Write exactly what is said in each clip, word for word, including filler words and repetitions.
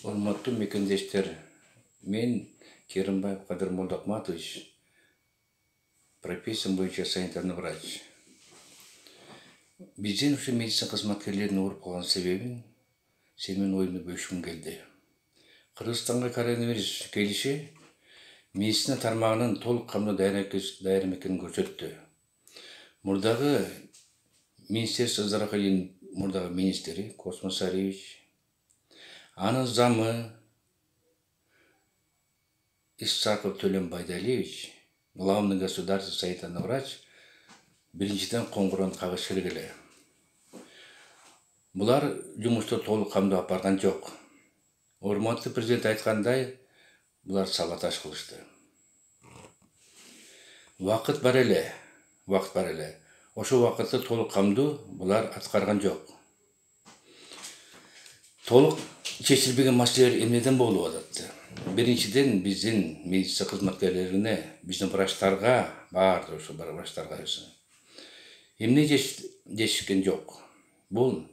Урматтуу мекендештер, мен Керимбаев Кадыр Молдокматович, профессиям боюнча санитарный врач. Биздин ушу медицина кызматкерлеринин ооруп калган себебин сени менен оюмду бөлүшкүм келди. Кыргызстанга коронавирус келиши медицина тармагынын толук камдуу даяр экенин көрсөттү. Мурдагы Министерство здравоохранения мурдагы министри Космос Саревич, анын замы Исаков Төлөн Байдалиевич, главный государственный санитарный врач, биринчиден коңгуроонду кагыш керек эле. Булар жумушту толук камдоо алып барган жок. Урматтуу президент айткандай, булар саботаж кылышты. Вакыт бар эле, вакыт бар эле. Ошол вакытты толук камдуу булар аткарган жок. Толук чечилбеген маселелер эмнеден болуп атат? Биринчиден биздин медицина кызматкерлерине, биздин врачтарга, баардык ошо врачтарга эмне дешкен жок. Бул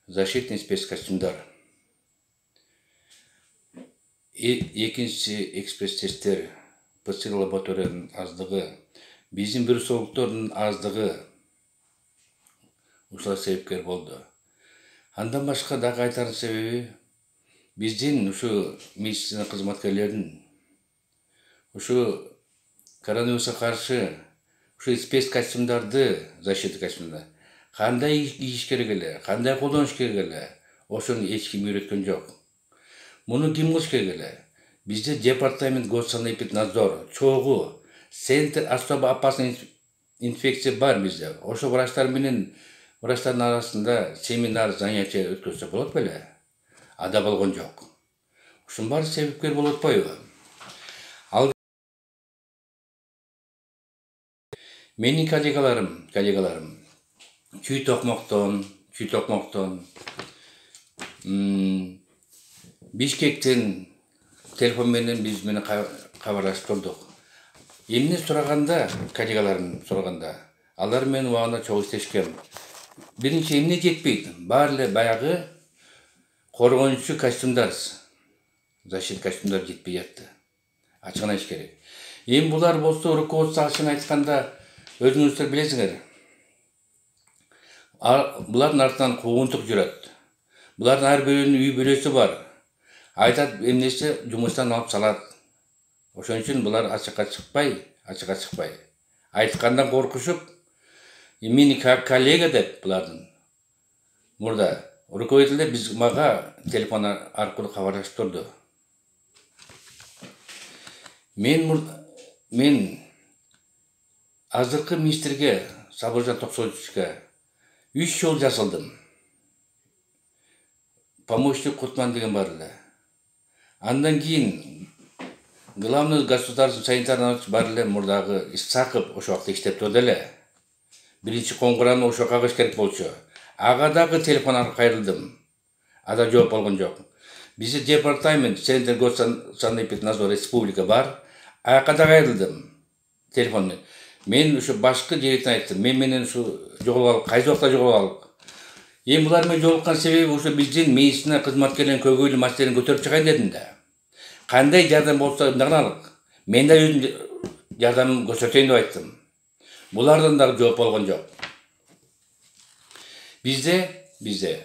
защитный спецкостюмдар. Экинчи экспресс-тесттер, ПЦР лабораториянын аздыгы, биздин вирусологдордун аздыгы ушуга себепкер болду. Андан башка дагы айтар себеби биздин ушу медицина кызматкерлеринин ушу коронавирусга каршы ушу спецкостюмдарды, защита костюмдарды кандай кийиш керек эле, кандай колдонуш керек эле, ошону эч ким үйрөткөн жок. Муну ким кылыш керек эле? Бизде департамент госsanэпиднадзор, чогуу, центр особо опасный инфекция бар бизде. Ошо врачтар менен врачтардын арасында семинар, занятия өткөзсө болот беле? Ада болгон жок. Ушунун баары себепкер болуп атпайбы? Ал менин коллегаларым, коллегаларым чүй токмоктон, чүй токмоктон, Бишкектен телефон менен биз менен кабарлашып турдук. Эмне сураганда, коллегаларым сураганда, алар менен убагында чогуу иштешкен. Биринчи эмне жетпейт? Баары эле баягы коргонуучу костюмдар, защита костюмдар жетпей жатты. Ачыгын айтыш керек. Эми булар болсо руководство ачыгын айтканда өзүңүздөр билесиңер. Булардын артынан куугунтук жүрөт. Булардын ар бирөөнүн үй бүлөсү бар. Айтат эмнеси жумуштан алып салат. Ошон үчүн булар ачыкка чыкпай, ачыкка чыкпай. Айткандан коркушуп, мени коллега деп булардын мурда руководитель биз мага телефон аркылуу кабарлашып турду. Мен мен азыркы министрге Сабыржан Токсоевичке үч жол жазылдым. Помощник Кутман деген бар эле. Андан кийин главный государственный санитарный бар эле мурдагы Исаков ошол вакытта иштеп турду эле. Биринчи коңгуроонду ошо кагыш керек болчу. Ага дагы телефон аркылуу кайрылдым. Ада жооп болгон жок. Бизде департамент, центр госsanэпиднадзор республика бар. Ага да кайрылдым. Телефон менен. Мен ушу башкы директоруна айттым. Мен менен ушу жоголгалы, кайсы убакта жоголгалы. Эми булар менен жолуккан себеби ушу биздин медицина кызматкерлеринин көйгөйлүү маселелерин көтөрүп чыгайын дедим да. Кандай жардам болсо ымдагылык. Мен да өзүм жардамымды көрсөтөйүн деп айттым. Булардан дагы жооп болгон жок. Бизде, бизде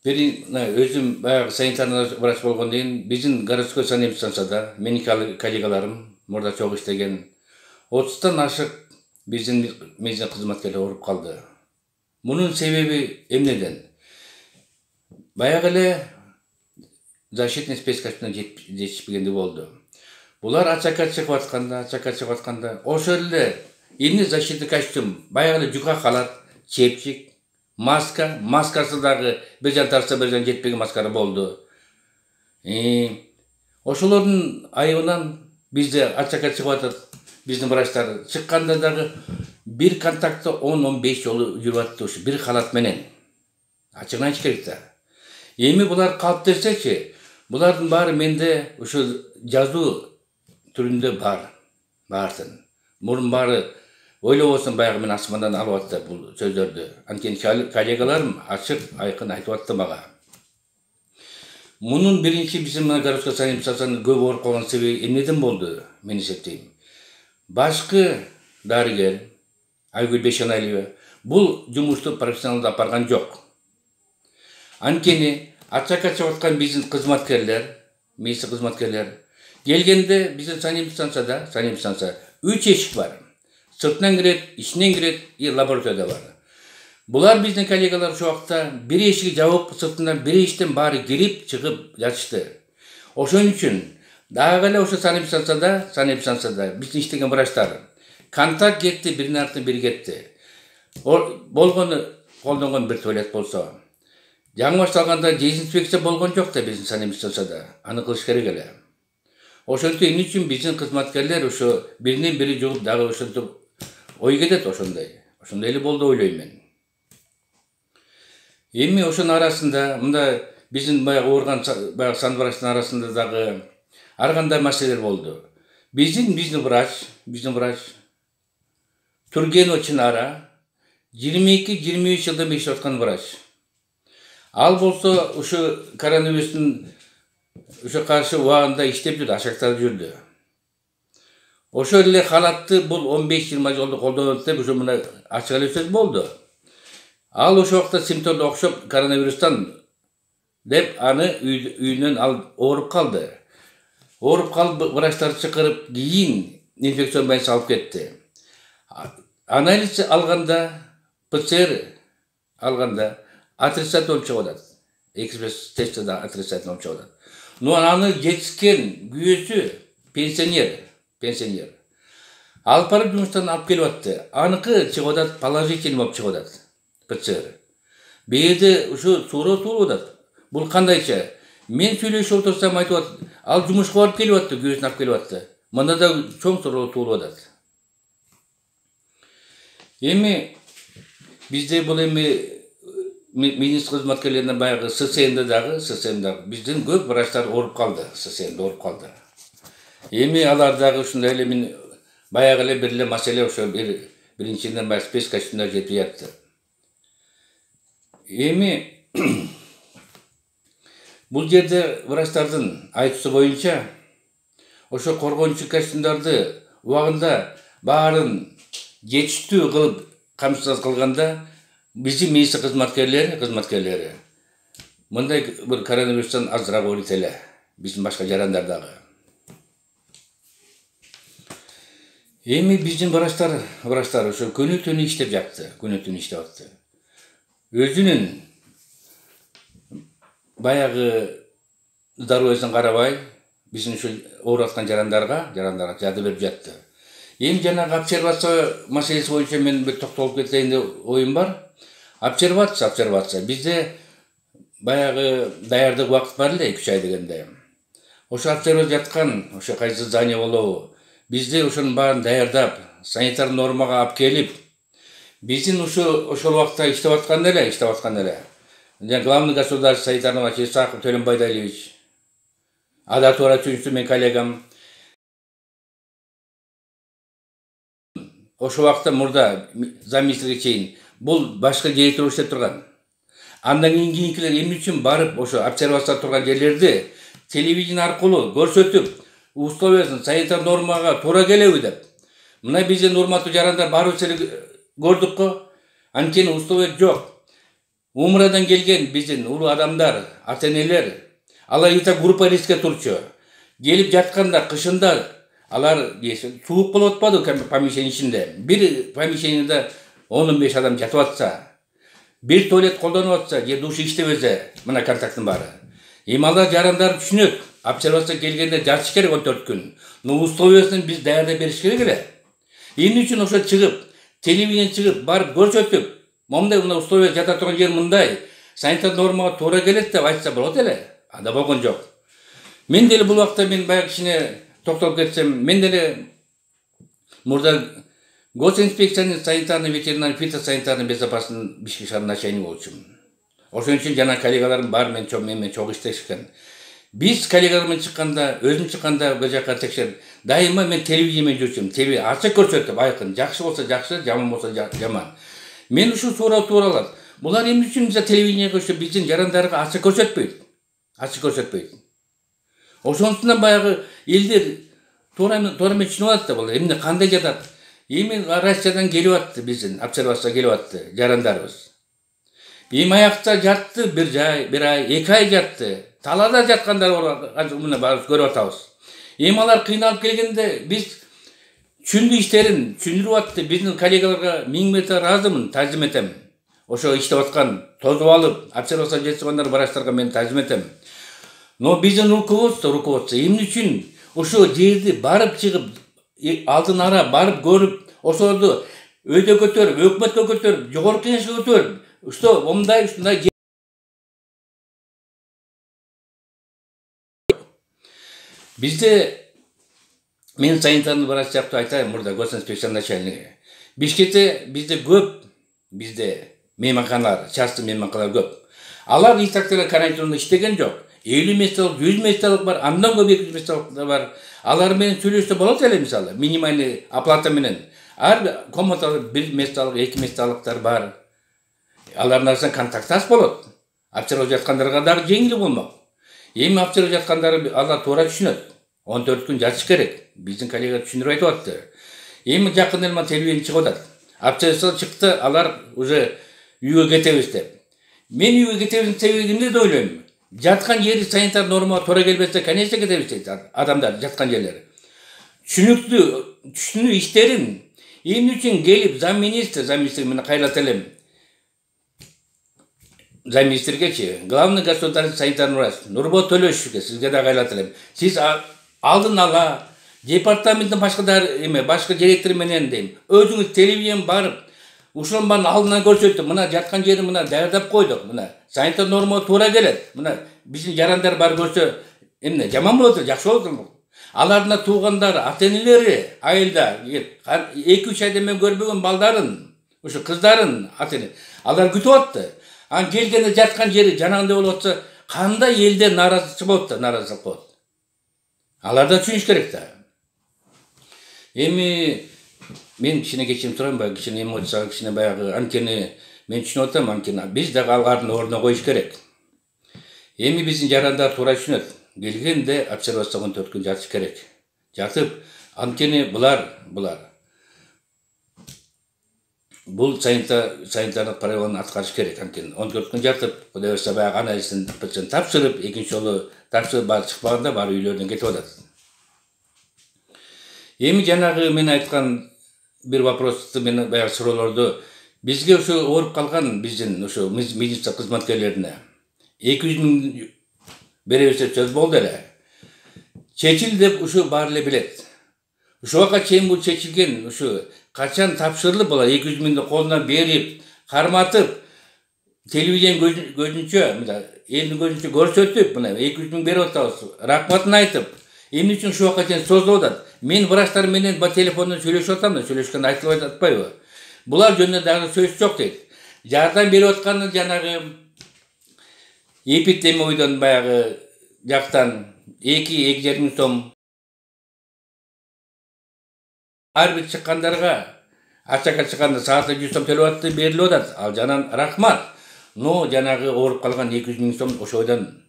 бир өзүм баягы санитарный врач болгондон кийин биздин городской санэпидстанцияда менин коллегаларым мурда чогуу иштеген отуздан ашык биздин медицина кызматкерлери ооруп калды. Мунун себеби эмнеден? Баягы эле защитный спецкостюмдар жетишпегендиги болду. Булар ачакка чыгып атканда, ачакка чыгып атканда, ошол эле эмне защита костюм, баягы эле жука халат, чепчик, маска, маскасы дагы бир жан тарса бир жан жетпеген маскалар болду. Ошолордун айыбынан бизде ачакка чыгып атат. Биздин врачтар чыкканда дагы бир контактта он он беш жолу жүрүп атты ушу бир халат менен. Ачыгын айтыш керек да. Эми булар калып десечи, булардын баары менде ушу жазуу түрүндө бар. Баардын. Мурун баары ойлобосом баягы мен асмандан алып атты бул сөздөрдү. Анткени коллегаларым ачык, айкын айтып атты мага. Мунун биринчи биздин мына городской санэпидстанциянын көп ооруп калган себеби эмнеден болду, мен эсептейм. Башкы дарыгер Айгүл Бейшеналиева бул жумушту профессионалдуу алып барган жок. Анткени ача качып аткан биздин кызматкерлер, медицина кызматкерлер келгенде биздин санэпидстанцияда, санэпидстанция үч эшик бар. Сыртынан кирет, ичинен кирет, и лаборатория бар. Булар биздин коллегалар ошол убакта бир эшиги жабып, сыртынан бир эшиктен баары кирип, чыгып жатышты. Ошон үчүн дагы эле ошо санэпидстанцияда, санэпидстанцияда биздин иштеген врачтар контакт кетти, биринин артынан бири кетти. Болгону колдонгон бир туалет болсо. Жаңы башталганда дезинфекция болгон жок да биздин санэпидстанцияда. Аны кылыш керек эле. Ошентип эмне үчүн биздин кызматкерлер ошо биринен бири жугуп дагы ошентип ой кетет ошондой. Ошондой эле болду ойлойм мен. Эми ошонун арасында мында биздин баягы ооруган баягы санврачтын арасында дагы ар кандай маселелер болду. Биздин биздин врач, биздин врач Тургенова Чынара жыйырма эки жыйырма үч жылдан иштеп аткан врач. Ал болсо ошо коронавирустун ошо каршы убагында иштеп жүрдү, ашактап жүрдү. Ошо эле халатты бул он беш жыйырма жолду колдонот деп ошо мына ачык эле сөз болду. Ал ошол убакта симптомдо окшоп коронавирустан деп аны үйүнөн ал ооруп калды. Ооруп калып врачтарды чакырып кийин инфекцион больница алып кетти. Анализ алганда, ПЦР алганда отрицательный болуп чыгып атат. Экспресс тестте да отрицательный болуп чыгып атат. Но аны жетишкен күйөөсү пенсионер, пенсионер. Алып барып жумуштан алып келип атты. Аныкы чыгып атат, положительный болуп чыгып атат. ПЦР. Бээде ушу суроо туулуп атат. Бул кандайча? Мен сүйлөшүп отурсам айтып атат, ал жумушка барып келип атты, күйөөсүн алып келип атты. Мында да чоң суроо туулуп атат. Эми бизде бул эми медицина кызматкерлеринин баягы ССМде дагы, ССМде биздин көп врачтар ооруп калды, ССМде ооруп калды. Эми алар дагы ушундай эле мен баягы эле бир эле маселе ошо бир биринчиден баягы спецкостюмдар жетип жатты. Эми бул жерде врачтардын айтуусу боюнча ошо коргончу костюмдарды убагында баарын жетиштүү кылып камсыз кылганда биздин медицина кызматкерлери, кызматкерлери мындай бир коронавирустан азыраак ооруйт эле, биздин башка жарандар дагы. Эми биздин врачтар, врачтар ошо күнү түнү иштеп жатты, күнү түнү иштеп атты. Өзүнүн баягы здоровьесин карабай, биздин ушул ооруп аткан жарандарга, жарандарга жардам берип жатты. Эми жанагы обсервация маселеси боюнча мен бир токтолуп кетейин деп оюм бар. Обсервация, обсервация. Бизде баягы даярдык убакыт бар эле, эки үч ай дегенде. Ошо обсервация жаткан, ошо кайсы здание болобу. Бизде ошонун баарын даярдап, санитар нормага алып келип, биздин ушу ошол убакта иштеп аткан эле, иштеп аткан эле. Главный государственный санитарный врач Исаков Төлөн Байдалиевич, ада туура түшүнсү мен коллегам. Ошол убакта мурда замминистрге чейин бул башка директор иштеп турган. Андан кийин кийинкилер эмне үчүн барып ошо обсервация турган жерлерди телевидение аркылуу көрсөтүп, условиясын санитар нормага туура келеби деп. Мына биздин урматтуу жарандар баарыбыз эле көрдүк го. Анткени условия жок. Умрадан келген биздин улуу адамдар, ата-энелер, алар ita группа рискке турчу. Келип жатканда кышында алар суук болуп атпады помещение ичинде. Бир помещениеде он беш адам жатып атса, бир туалет колдонуп атса, же душ иштебесе, мына контакттын баары. Эми алар жарандар түшүнөт. Обсервация келгенде жатыш керек он төрт күн. Но условиясын биз даярдап бериш керек эле. Эмне үчүн ошо чыгып, телевидение чыгып, барып көрсөтүп, момундай мына условия жата турган жер мындай, санитар нормага туура келет деп айтса болот эле. Анда болгон жок. Мен деле бул убакта мен баягы кичине токтолуп кетсем, мен деле мурда госинспекциянын санитарный, ветеринарный, фитосанитарный безопасность Бишкек шаарынын начальниги болчумун. Ошон үчүн жана коллегаларым бар мен чоң менен чогуу иштешкен. Биз коллегалар менен чыкканда, өзүм чыкканда бул жака текшерип, дайыма мен телевидение менен жүрчүмүн. Телевидение ачык көрсөтүп, айкын, жакшы болсо жакшы, жаман болсо жаман. Мен ушул туура тууралат. Булар эмне үчүн биз телевидениеге ошо биздин жарандарга ачык көрсөтпөйт? ачык көрсөтпөйт. Ошондуктан баягы элдер туура туура менен түшүнүп алат да, бул эмне кандай жатат. Эми Россиядан келип атты, биздин обсервацияга келип атты жарандарыбыз. Эми аякта жатты бир жай, бир ай, эки ай жатты. Талаада жаткандар бар, мына барып көрүп атабыз. Эми алар кыйналып келгенде биз түшүндү иштерин, түшүндүрүп атты. Биздин коллегаларга миң мәрте ыраазымын, таазим этем. Ошо иштеп аткан, тозуп алып, обсервацияга жетишкандар врачтарга мен таазим этем. Но биздин руководство, руководство эмне үчүн ошо жерди барып чыгып, алдын ара барып көрүп, ошолорду өйдө көтөрүп, өкмөткө көтөрүп, жогорку кеңешке көтөрүп, что мындай ушундай бизде мен санитарный врач жактуу айтайын, мурда госинспекция начальниги. Бишкекте бизде көп, бизде мейманканалар, частный мейманканалар көп. Алар итактар карантинде иштеген жок. элүү месталык, жүз месталык бар, андан көп эки жүз месталык бар. Алар менен сүйлөшсө болот эле, мисалы, минимальный оплата менен. Ар комнатада бир месталык, эки месталыктар бар. Алардын арасында контакт аз болот. Обсервация жаткандарга дагы жеңил болмок. Эми обсервация жаткандары алар туура түшүнөт. он төрт күн жатыш керек. Биздин коллега түшүндүрүп айтып атты. Эми жакын эле телевидение чыгып атат. Обсервация чыкты, алар уже үйгө кетебиз деп. Мен үйгө кетебиздин себеби эмне деп ойлойм? Жаткан жери санитар нормага туура келбесе, конечно кетебиз дейт адамдар жаткан жерлери. Түшүнүктүү, түшүнүү иштерин эмне үчүн келип замминистр, замминистр менен кайрылат элем. Замминистргечи, главный государственный санитарный врач Нурбол Төлөшевке сизге да кайрылат элем. Сиз алдын ала департаменттин башкалар эме, башка директор менен дейм. Өзүңүз телевидениеден барып, ушунун баарын алдынан көрсөтүп, мына жаткан жерин мына даярдап койдук, мына санитар нормага туура келет. Мына биздин жарандар бар көрсө, эмне жаман болот, жакшы болот. Алардын туугандары, ата-энелери айылда эки үч айдан мен көрбөгөн балдарын, ушу кыздарын ата-эне алар күтүп атты. Ан келгенде жаткан жери жанагындай болуп атса, кандай элде нааразычы болот да, нааразылык болот. Алар да түшүнүш керек да. Эми мен кичине кечирим сурайм, баягы кичине эмоцияга кичине баягы анткени мен түшүнүп атам, анткени биз дагы алардын ордуна коюш керек. Эми биздин жарандар туура түшүнөт. Келгенде обсервацияга он төрт күн жатыш керек. Жатып, анткени булар, булар бул санитарлык правиланы аткарыш керек, анткени он төрт күн жатып, Кудай буюрса баягы анализин тапшырып, экинчи жолу тапшырып баары чыкпаганда баары үйлөрүнөн кетип атат. Эми жанагы мен айткан бир вопросту, мен баягы суроолорду бизге ошо ооруп калган биздин ошо медицина кызматкерлерине эки жүз миң беребиз деп сөз болду эле. Чечил деп ушу баары эле билет. Ушуга чейин бул чечилген, ушу качан тапшырылып булар эки жүз миңди колунан берип, карматып, телевидение көзүнчө, мына элдин көзүнчө көрсөтүп, мына эки жүз миң берип атабыз, рахматын айтып, эмне үчүн ушуга чейин созулуп атат? Мен врачтар менен ба телефондон сүйлөшүп атам да, сүйлөшкөндө айтылып атпайбы? Булар жөнүндө дагы сөз жок дейт. Жардам берип атканы жанагы эпидемиодон баягы жактан эки эки жарым миң сом ар бир чыккандарга ачакка чыкканда саатына жүз сом төлөп атты, берилип атат. Ал жанан рахмат. Но жанагы ооруп калган эки жүз миң сом ошойдон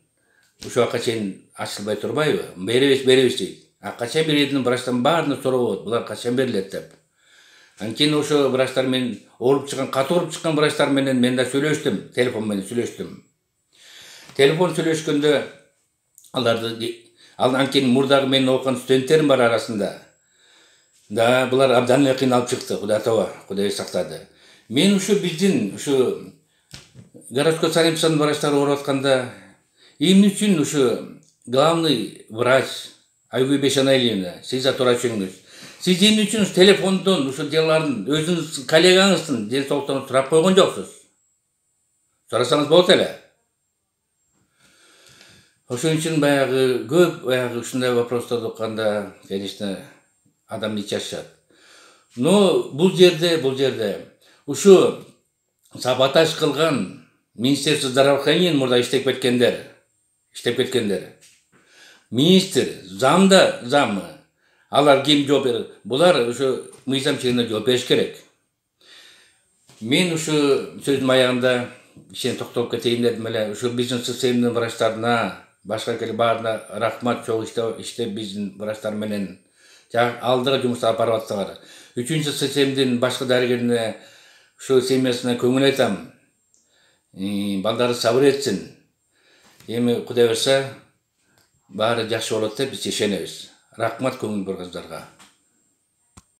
ушуга чейин ачылбай турбайбы? Беребиз, беребиз дейт. А качан беретинин врачтан баарына суроо, булар качан берилет деп. Анткени ошо врачтар менен ооруп чыккан, катуу ооруп чыккан врачтар менен мен да сүйлөштүм, телефон менен сүйлөштүм. Телефон сүйлөшкөндө аларды, ал анткени мурдагы менин окуган студенттерим бар арасында. Да, булар абдан эле кыйналып чыкты, Кудай тоо, Кудай сактады. Мен ушу биздин ушу городской санэпидстанциянын врачтары ооруп атканда эмне үчүн ушу главный врач Айгүл Бешенаиловна, сиз да туура түшүнүңүз. Сиз эмне үчүн телефондон ушу делаларын өзүңүз коллегаңыздын ден соолуктарын сурап койгон жоксуз? Сурасаңыз болот эле. Ошон үчүн баягы көп баягы ушундай вопросторду укканда, конечно, адам ичи ачышат. Но бул жерде, бул жерде ушу саботаж кылган Министерство здравоохранения мурда иштеп кеткендер, иштеп кеткендер. Министр, замда замы, алар ким жооп берет? Булар ушу мыйзам чегинде жооп бериш керек. Мен ушу сөздүн аягында кичине токтолуп кетейин дедим эле, ушу бизнес системанын врачтарына Башка келе баарына рахмат, чогуу иштеп иштеп биздин врачтар менен алдыга жумуш алып барып атсаңар. Үчүнчү ССМдин башкы дарыгерине, ушул семьясына көңүл айтам. Балдары сабыр этсин. Эми Кудай буюрса баары жакшы болот деп биз ишенебиз. Рахмат көңүл бурганыңыздарга.